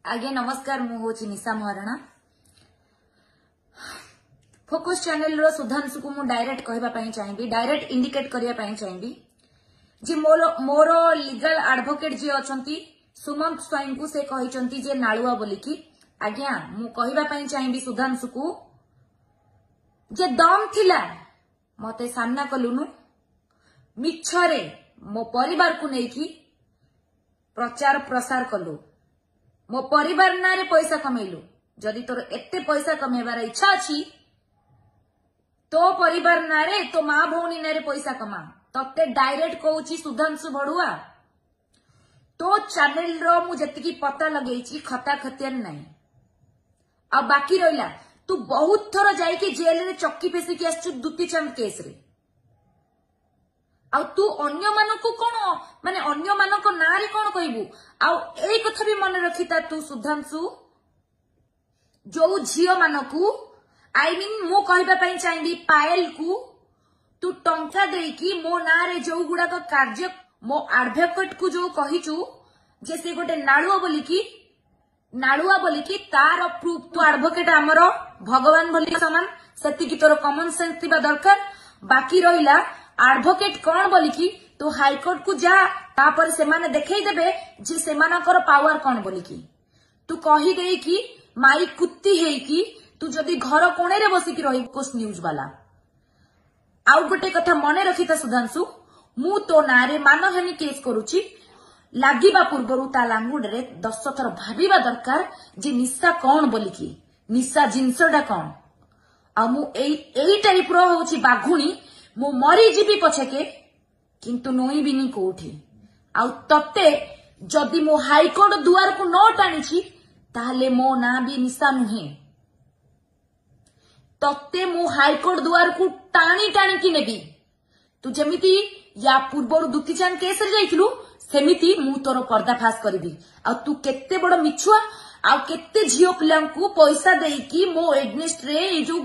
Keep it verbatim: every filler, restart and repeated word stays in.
ଆଜ୍ଞା ନମସ୍କାର ମୁଁ ହଉଛି ନିଶା ମହାରଣା ଫୋକସ୍ ଚ୍ୟାନେଲର ସୁଧାଂଶୁକୁ ମୁଁ ଡାଇରେକ୍ଟ କହିବା ପାଇଁ ଚାହିଁବି ଡାଇରେକ୍ଟ ଇଣ୍ଡିକେଟ କରିବା ପାଇଁ ଚାହିଁବି ଯେ ମୋର ମୋର ଲିଗାଲ ଆଡଭୋକେଟ ଯିଏ ଅଛନ୍ତି ସୁମନ୍ତ ସ୍ୱାଇଁଙ୍କୁ ସେ କହିଛନ୍ତି ଯେ ନାଳୁଆ ବୋଲିକି ଆଜ୍ଞା ମୁଁ କହିବା ପାଇଁ ଚାହିଁବି ସୁଧାଂଶୁକୁ ଯେ ଦମ୍ ଥିଲା ମତେ ସାମ୍ନା କଲୁନୁ ମିଛରେ ମୋ ପରିବାରକୁ ନେଇକି ପ୍ରଚାର ପ୍ରସାର କଲୁ ମୋ ପରିବାର ନାଁରେ ପଇସା କମେଇଲୁ ଯଦି ତୋର ଏତେ ପଇସା କମେଇବାର ଇଚ୍ଛା ଅଛି ତୋ ପରିବାର ନାଁରେ ତୋ ମା ଭଉଣୀ ନାଁରେ ପଇସା କମା ତତେ ଡାଇରେକ୍ଟ କହୁଛି ସୁଧାଂଶୁ ଭଡୁଆ ତୋ ଚ୍ୟାନେଲର ମୁଁ ଯେତିକି ପତା ଲଗେଇଛି ଖତା ଖତିଆନ ନାହିଁ ଆଉ ବାକି ରହିଲା ତୁ ବହୁତ ଥର ଯାଇକି ଜେଲରେ ଚକି ପେଶିକି ଆସିଛୁ ଦୁତି ଚାନ୍ଦ କେସରେ ଆଉ ତୁ ଅନ୍ୟମାନଙ୍କୁ କଣ ମାନେ ଅନ୍ୟମାନଙ୍କ ନାଁରେ କଣ କହିବୁ ଆଉ ଏଇ କଥା ବି ମନେ ରଖିଥା ତୁ ସୁଧାଂଶୁ ଯୋଉ ଝିଅ ମାନଙ୍କୁ I mean ମୁଁ କହିବା ପାଇଁ ଚାହିଁବି ପାଏଲକୁ ତୁ ଟଙ୍କା ଦେଇକି ମୋ ନାଁରେ ଯୋଉ ଗୁଡାକ କାର୍ଯ୍ୟ ମୋ ଆଡଭୋକେଟ କୁ ଯୋଉ କହିଛୁ ଯେ ସେ ଗୋଟେ ନାଳୁଆ ବୋଲିକି ନାଳୁଆ ବୋଲିକି ତାର ପ୍ରୁଫ ତୁ ଆଡଭୋକେଟ ଆମର ଭଗବାନ ବୋଲି ସମାନ ସେତିକି ତୋର କମନ ସେନ୍ସ ଥିବା ଦରକାର ବାକି ରହିଲା ଆଡଭୋକେଟ କଣ ବୋଲିକି ତୁ ହାଇକୋର୍ଟ କୁ ଯା ତାପରେ ସେମାନେ ଦେଖେଇ ଦେବେ ଯେ ସେମାନଙ୍କର ପାୱାର କଣ ବୋଲିକି ତୁ କହିଦେଇକି ମାଇ କୁତ୍ତି ହେଇକି ତୁ ଯଦି ଘର କୋଣରେ ବସିକି ରହିବୁ ନ୍ୟୁଜ ବାଲା ଆଉ ଗୋଟେ କଥା ମନେ ରଖିଥା ସୁଧାଂଶୁ ମୁଁ ତୋ ନାଁରେ ମାନହାନି କେସ୍ କରୁଛି ଲାଗିବା ପୂର୍ବରୁ ତା ଲାଙ୍ଗୁଡରେ ଦଶ ଥର ଭାବିବା ଦରକାର ଯେ ନିଶା କଣ ବୋଲିକି ନିଶା ଜିନିଷଟା କଣ ଆଉ ମୁଁ ଏଇ ଏଇ ଟାଇପର ହଉଛି ବାଘୁଣୀ ମୁଁ ମରିଯିବି ପଛକେ କିନ୍ତୁ ନଇଁବିନି କୋଉଠି ଆଉ ତତେ ଯଦି ମୁଁ ହାଇକୋର୍ଟ ଦୁଆରକୁ ନ ଟାଣିଛି ତାହେଲେ ମୋ ନାଁ ବି ନିଶା ନୁହେଁ ତତେ ମୁଁ ହାଇକୋର୍ଟ ଦୁଆରକୁ ଟାଣି ଟାଣିକି ନେବି ତୁ ଯେମିତି ୟା ପୂର୍ବରୁ ଦୁତି ଚାନ୍ଦ କେସରେ ଯାଇଥିଲୁ ସେମିତି ମୁଁ ତୋର ପର୍ଦ୍ଦାଫାଶ କରିବି ଆଉ ତୁ କେତେ ବଡ ମିଛୁଆ ଆଉ କେତେ ଝିଅ ପିଲାଙ୍କୁ ପଇସା ଦେଇକି ମୋ ଏଗନେଷ୍ଟରେ ଏଇ ଯୋଉ